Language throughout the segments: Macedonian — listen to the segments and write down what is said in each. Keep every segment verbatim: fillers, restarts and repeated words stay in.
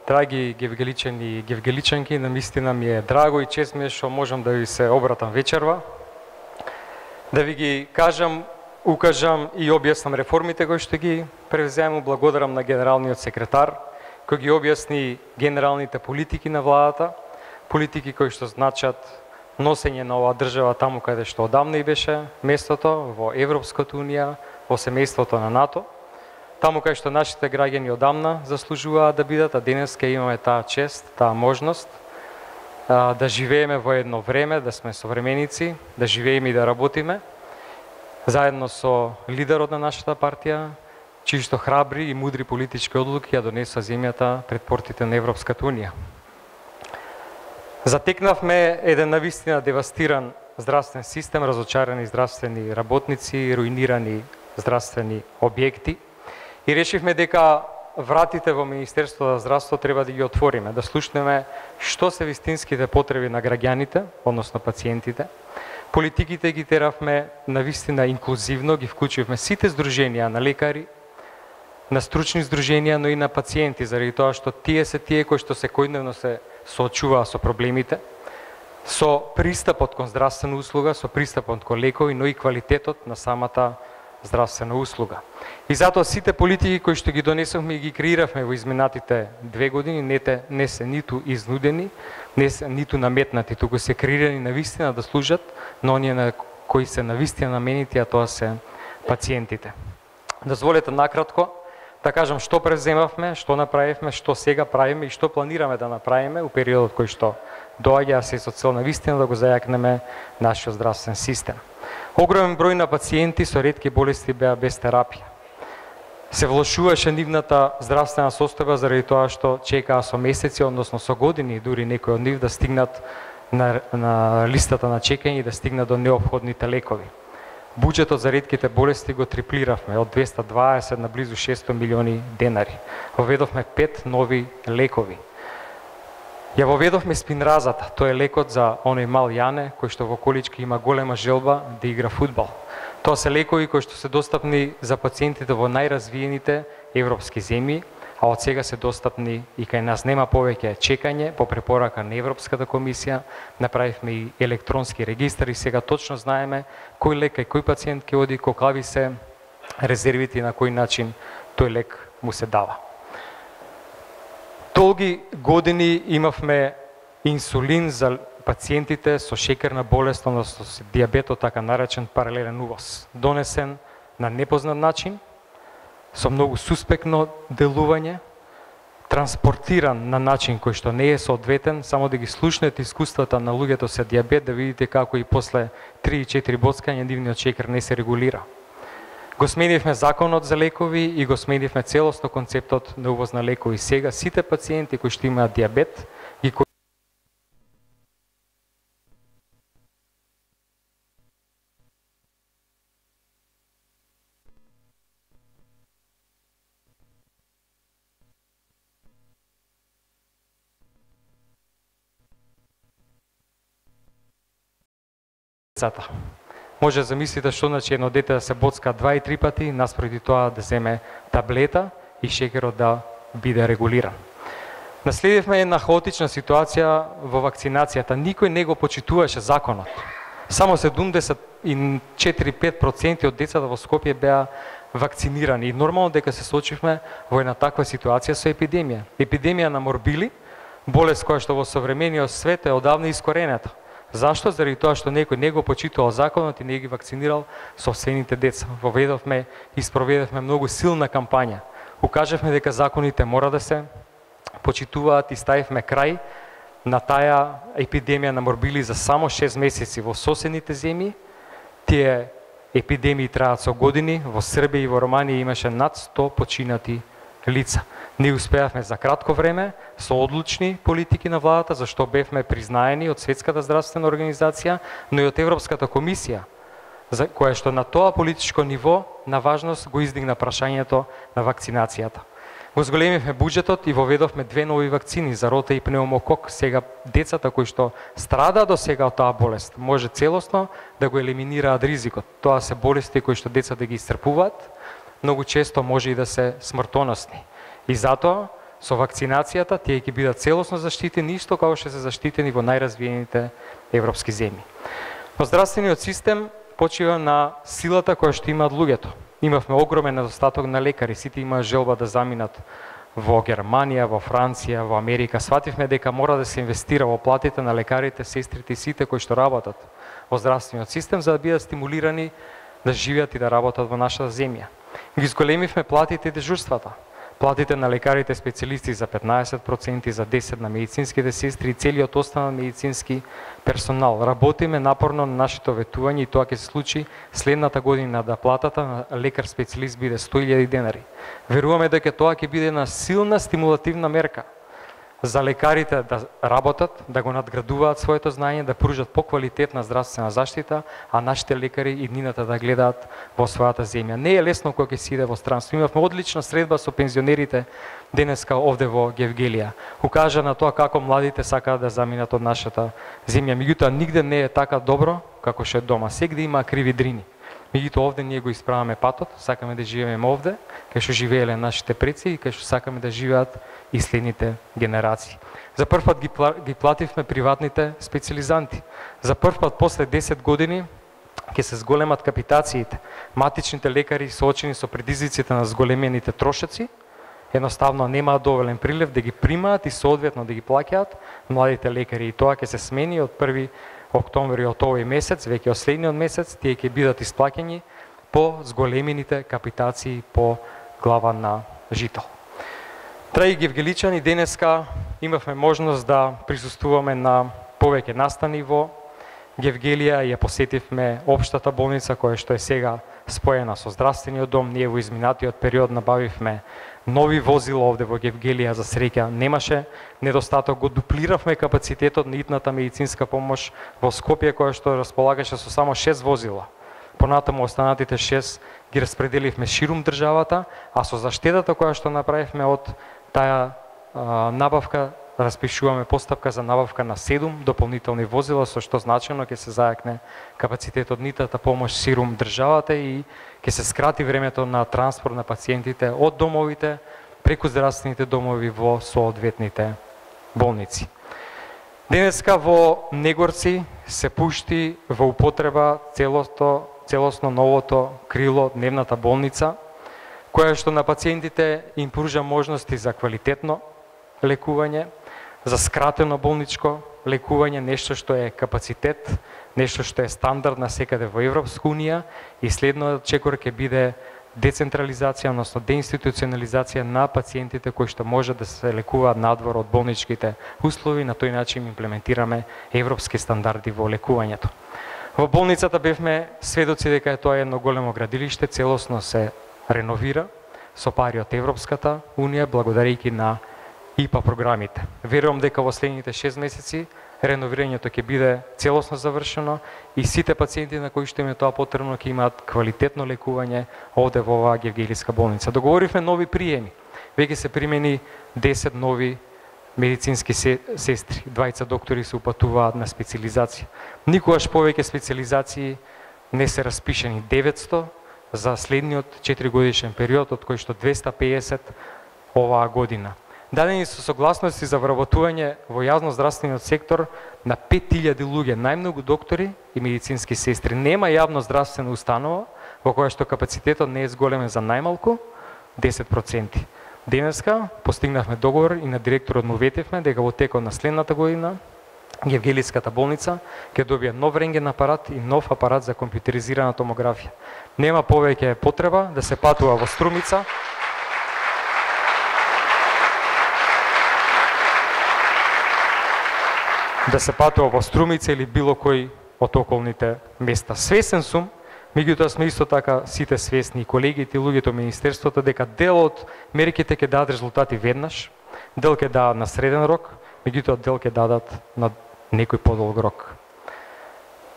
Драги гевгеличани и гевгеличанки, навистина ми е драго и чест ми е што можам да ви се обратам вечерва, да ви ги кажам, укажам и објаснам реформите кои што ги превземам. Благодарам на генералниот секретар кој ги објасни генералните политики на владата, политики кои што значат носење на оваа држава таму каде што одамна и беше местото, во Европската унија, во семејството на НАТО, таму кај што нашите граѓани одамна заслужуваат да бидат, а денеска имаме таа чест, таа можност а, да живееме во едно време, да сме современици, да живееме и да работиме, заедно со лидерот на нашата партија, чии што храбри и мудри политички одлуки ја донесува земјата пред портите на Европската унија. Затекнавме еден навистина девастиран здравствен систем, разочарани здравствени работници, руинирани здравствени објекти, и решивме дека вратите во Министерството за здравство треба да ги отвориме, да слушнеме што се вистинските потреби на граѓаните, односно пациентите. Политиките ги теравме навистина инклузивно, ги вклучивме сите здруженија на лекари, на стручни здруженија, но и на пациенти, заради тоа што тие се тие кои што секојдневно се соочуваат со проблемите, со пристапот кон здравствена услуга, со пристапот кон лекови, но и квалитетот на самата здравствена услуга. И затоа сите политики кои што ги донесовме и ги креиравме во изминатите две години не, те, не се ниту изнудени, не се ниту наметнати, туку се креирани навистина да служат на оние на кои се навистина наменити, а тоа се пациентите. Дозволете накратко да кажам што превземавме, што направивме, што сега правиме и што планираме да направиме у периодот кој што доаѓа, се со цел навистина да го зајакнеме нашиот здравствен систем. Огромен број на пациенти со ретки болести беа без терапија. Се влошуваше нивната здравствена состојба заради тоа што чекаа со месеци, односно со години, дури некои од нив да стигнат на, на листата на чекање и да стигнат до неопходните лекови. Буџетот за ретките болести го триплиравме од двеста дваесет на близу шесто милиони денари. Воведовме пет нови лекови. Ја воведовме спинразата, тоа е лекот за оној мал Јане, кој што во колички има голема желба да игра фудбал. Тоа се лекови кои што се достапни за пациентите во најразвиените европски земји, а од сега се достапни и кај нас. Нема повеќе чекање по препорака на Европската комисија, направивме и електронски регистар и сега точно знаеме кој лек кај кој пациент ќе оди, колкави се резервите и на кој начин тој лек му се дава. Долги години имавме инсулин за пациентите со шеќерна болест, односно со дијабетот, така наречен паралелен увоз, донесен на непознат начин, со многу суспектно делување, транспортиран на начин кој што не е соодветен. Само да ги слушнете искуствата на луѓето со дијабет, да видите како и после три и четири боцкања нивниот шеќер не се регулира. Го сменивме законот за лекови и го сменивме целосно концептот на увоз на лекови. Сега сите пациенти кои што имаат дијабет ги децата. Може да замислите што значи едно дете да се боцка два и три пати, наспроти тоа да земе таблета и шеќерот да биде регулиран. Наследивме една хаотична ситуација во вакцинацијата. Никој не го почитуваше законот. Само седумдесет и четири до пет проценти од децата во Скопје беа вакцинирани. И нормално дека се соочивме во една таква ситуација со епидемија. Епидемија на морбили, болест која што во современиот свет е одавна искорената. Зашто? Заради тоа што некој не го почитувал законот и не ги вакцинирал собствените деца. Воведовме и спроведовме многу силна кампања. Укажавме дека законите мора да се почитуваат и ставивме крај на таа епидемија на морбили за само шест месеци во соседните земји. Тие епидемии траат со години. Во Србија и во Романија имаше над сто починати лица. Не успеавме за кратко време со одлучни политики на владата, зашто бевме признаени од Светската здравствена организација, но и од Европската комисија, за која што на тоа политичко ниво на важност го издигна прашањето на вакцинацијата. Го зголемивме буџетот и воведовме две нови вакцини за рота и пнеумокок. Сега децата кои што страдаат до сега од таа болест може целосно да го елиминираат ризикот. Тоа се болести кои што децата ги исцрпуваат, многу често може и да се смртоносни. И затоа со вакцинацијата тие ќе бидат целосно заштитени, исто како што се заштитени во најразвиените европски земји. Но здравствениот систем почива на силата која што имаат луѓето. Имавме огромен недостаток на лекари, сите имаа желба да заминат во Германија, во Франција, во Америка. Свативме дека мора да се инвестира во платите на лекарите, сестрите и сите кои што работат во здравствениот систем за да бидат стимулирани да живеат и да работат во нашата земја. Ги зголемивме платите и дежурствата. Платите на лекарите специјалисти за петнаесет проценти, за десет проценти на медицинските сестри и целиот останал медицински персонал. Работиме напорно на нашето ветување и тоа ќе се случи следната година да платата на лекар специјалист биде сто илјади денари. Веруваме дека тоа ќе биде една силна стимулативна мерка за лекарите да работат, да го надградуваат своето знаење, да пружат поквалитетна здравствена заштита, а нашите лекари и днината да гледаат во својата земја. Не е лесно кога ќе се иде во странство. Имавме одлична средба со пензионерите денеска овде во Гевгелија. Укажа на тоа како младите сакаат да заминат од нашата земја. Меѓутоа нигде не е така добро како што е дома. Сегде има криви дрини. Меѓутоа овде ние го исправаме патот, сакаме да живееме овде, кај што живееле нашите предци и кај што сакаме да живеат и следните генерации. За прв пат ги, ги плативме приватните специализанти. За прв пат после десет години ќе се зголемат капитациите. Матичните лекари соочени со предизвиците на зголемените трошоци, едноставно немаат доволен прилив да ги примаат и соодветно да ги плаќаат младите лекари. И тоа ќе се смени од први октомври од овој месец, веќе од следниот месец, тие ќе бидат исплаќани по зголемените капитации по глава на жител. Драги гевгеличани, денеска имавме можност да присуствуваме на повеќе настани во Гевгелија, ја посетивме општата болница која што е сега споена со здравствениот дом. Ние во изминатиот период набавивме нови возила овде во Гевгелија, за среќа немаше недостаток, го дуплиравме капацитетот на итната медицинска помош во Скопје која што располагаше со само шест возила. Понатаму останатите шест ги распределивме ширум државата, а со заштедата која што направивме од таа а, набавка, распишуваме постапка за набавка на седум дополнителни возила, со што значено ќе се зајакне капацитетот нитата помош ширум државата и ќе се скрати времето на транспорт на пациентите од домовите преку здравствените домови во соодветните болници. Денеска во Негорци се пушти во употреба целото, целосно новото крило дневната болница, која што на пациентите им пружа можности за квалитетно лекување, за скратено болничко лекување, нешто што е капацитет, нешто што е стандард на секаде во Европска унија, и следниот чекор ќе биде децентрализација, односно деинституционализација на пациентите кои што може да се лекуваат надвор од болничките услови. На тој начин имплементираме европски стандарди во лекувањето. Во болницата бевме сведоци дека тоа е едно големо градилиште, целосно се реновира со пари од Европската унија, благодарејќи на И П А програмите. Верувам дека во следните шест месеци реновирањето ќе биде целосно завршено и сите пациенти на кои што им е тоа потребно ќе имаат квалитетно лекување овде во оваа Гевгелиска болница. Договоривме нови приеми. Веќе се примени десет нови медицински сестри, двајца доктори се упатуваат на специализација. Никогаш повеќе специализации не се распишени, деветсто за следниот четиригодишен период, од кој што двесте и педесет оваа година. Дадени со согласности за вработување во јавно-здравствениот сектор на пет илјади луѓе, најмногу доктори и медицински сестри. Нема јавно здравствена установа во која што капацитетот не е зголемен за најмалку десет проценти. Денеска постигнавме договор и на директорот му ветивме дека во текот на следната година Гевгелиската болница ќе добие нов рентген апарат и нов апарат за компјутеризирана томографија. Нема повеќе потреба да се патува во Струмица, да се патува во Струмица или било кој од околните места. Свесен сум, меѓутоа сме исто така сите свесни, колегите и луѓето од министерството, дека дел од мерките ќе дадат резултати веднаш, дел ќе дадат на среден рок, меѓутоа дел ќе дадат на некој подолг рок.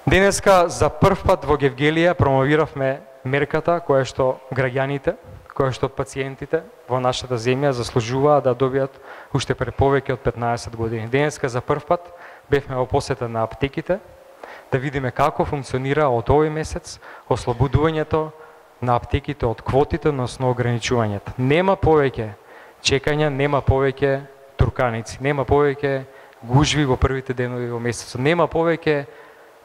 Денеска за прв пат во Гевгелија промовиравме мерката која што граѓаните, која што пациентите во нашата земја заслужуваат да добијат уште пред повеќе од петнаесет години. Денеска за прв пат бевме во посета на аптеките, да видиме како функционира од овој месец ослободувањето на аптеките од квотите, односно ограничувањето. Нема повеќе чекања, нема повеќе турканици, нема повеќе гужви во првите денови во месецот, нема повеќе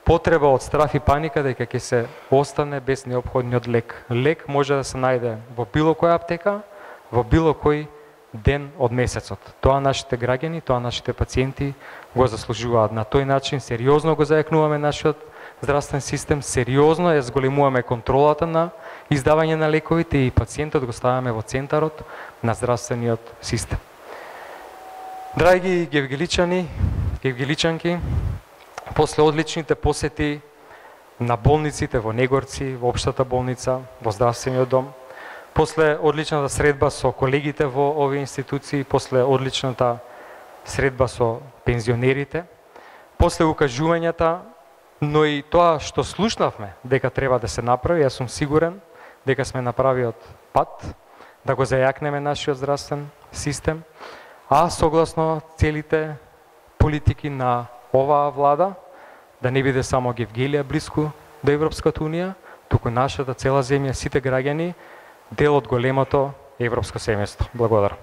потреба од страф и паника дека ќе се остане без неопходниот лек. Лек може да се најде во било која аптека, во било кој ден од месецот. Тоа нашите граѓани, тоа нашите пациенти го заслужуваат. На тој начин сериозно го зајакнуваме нашиот здравствен систем, сериозно ја зголемуваме контролата на издавање на лековите и пациентот го ставаме во центарот на здравствениот систем. Драги гевгеличани, гевгеличанки, после одличните посети на болниците во Негорци, во општата болница, во здравствениот дом, после одличната средба со колегите во овие институции, после одличната средба со пензионерите, после укажувањата, но и тоа што слушнавме дека треба да се направи, јас сум сигурен дека сме на правиот пат да го зајакнеме нашиот здравствен систем, а согласно целите политики на оваа влада, да не биде само Гевгелија блиску до Европската унија, туку нашата цела земја, сите граѓани, дел од големото европско семејство. Благодарам.